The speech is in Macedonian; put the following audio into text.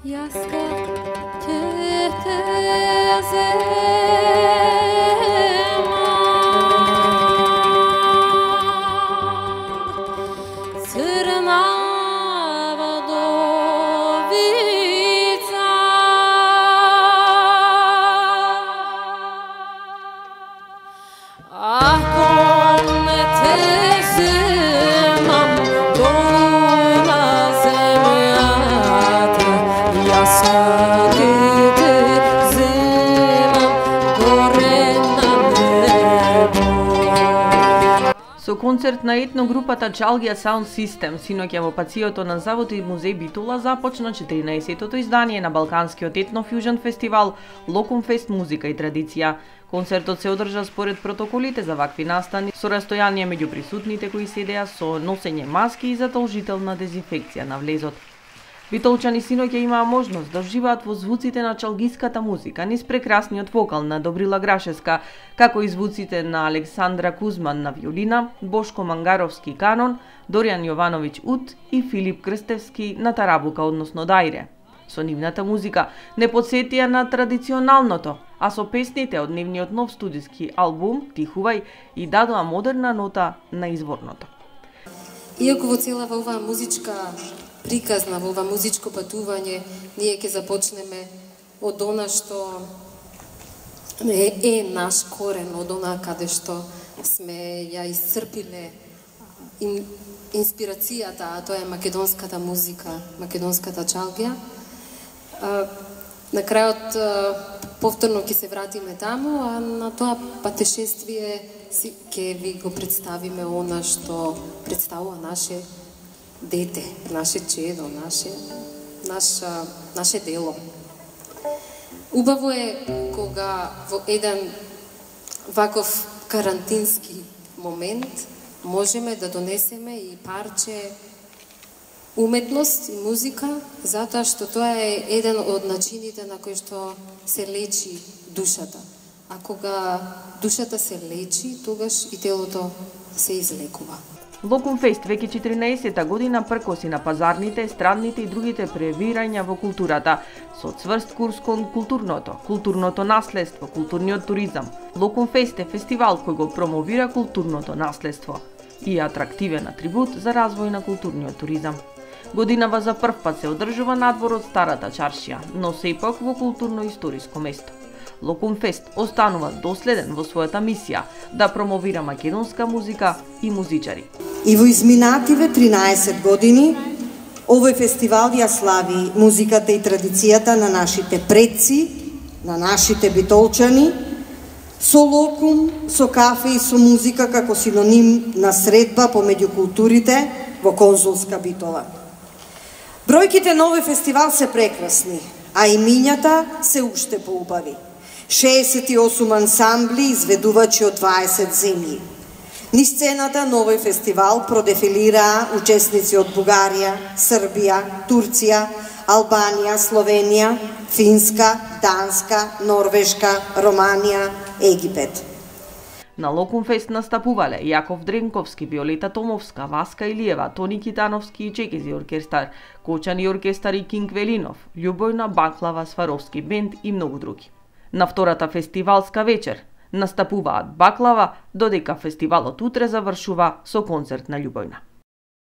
Яска ќе Со концерт на етногрупата Чалгија Саунд Систем синоќа во пациото на Завод и музеј Битола започна 14-тото издание на Балканскиот етно-фјужен фестивал Локумфест музика и традиција. Концертот се одржа според протоколите за вакви настани со растојание меѓу присутните кои седеа со носење маски и задолжителна дезинфекција на влезот. Битолчани синоќа имаа можност да уживаат во звуците на чалгиската музика низ прекрасниот вокал на Добрила Грашевска, како и звуците на Александра Кузман на виолина, Бошко Мангаровски канон, Доријан Јовановиќ ут и Филип Крстевски на тарабука, односно дајре. Со нивната музика не подсетија на традиционалното, а со песните од нивниот нов студиски албум Тихувај и дадоа модерна нота на изворното. Иако во целава оваа музичка приказна, во ова музичко патување, ние ќе започнеме од она што е наш корен, од она каде што сме ја исцрпиле инспирацијата, а тоа е македонската музика, македонската чалгија. На крајот повторно ќе се вратиме таму, а на тоа патешествие ќе ви го представиме она што представува наше дете, наше чедо, наше дело. Убаво е кога во еден ваков карантински момент можеме да донесеме и парче уметност и музика, затоа што тоа е еден од начините на кој што се лечи душата. А кога душата се лечи, тогаш и телото се излекува. Локумфест веќе 14-та година пркоси на пазарните, странните и другите превирања во културата, со цврст курс кон културното наследство, културниот туризам. Локумфест е фестивал кој го промовира културното наследство и е атрактивен атрибут за развој на културниот туризам. Годинава за прв пат се одржува надвор од Старата чаршија, но сепак во културно-историско место. Локумфест останува доследен во својата мисија да промовира македонска музика и музичари. И во изминативе 13 години овој фестивал ја слави музиката и традицијата на нашите предци, на нашите битолчани, со локум, со кафе и со музика како синоним на средба помеѓу културите во конзулска Битола. Бројките на овој фестивал се прекрасни, а имињата се уште поубави. 68 ансамбли изведувачи од 20 земји. Низ сцената на овој фестивал продефилираа учесници од Бугарија, Србија, Турција, Албанија, Словенија, Финска, Данска, Норвешка, Романија, Египет. На Локумфест настапувале Јаков Дренковски, Виолета Томовска, Васка Илиева, Тони Китановски и Чекези оркестар, Кочани оркестар и Кинг Велинов, Љубојна Баклава Сваровски бенд и многу други. На втората фестивалска вечер настапуваат Баклава, додека фестивалот утре завршува со концерт на Љубојна.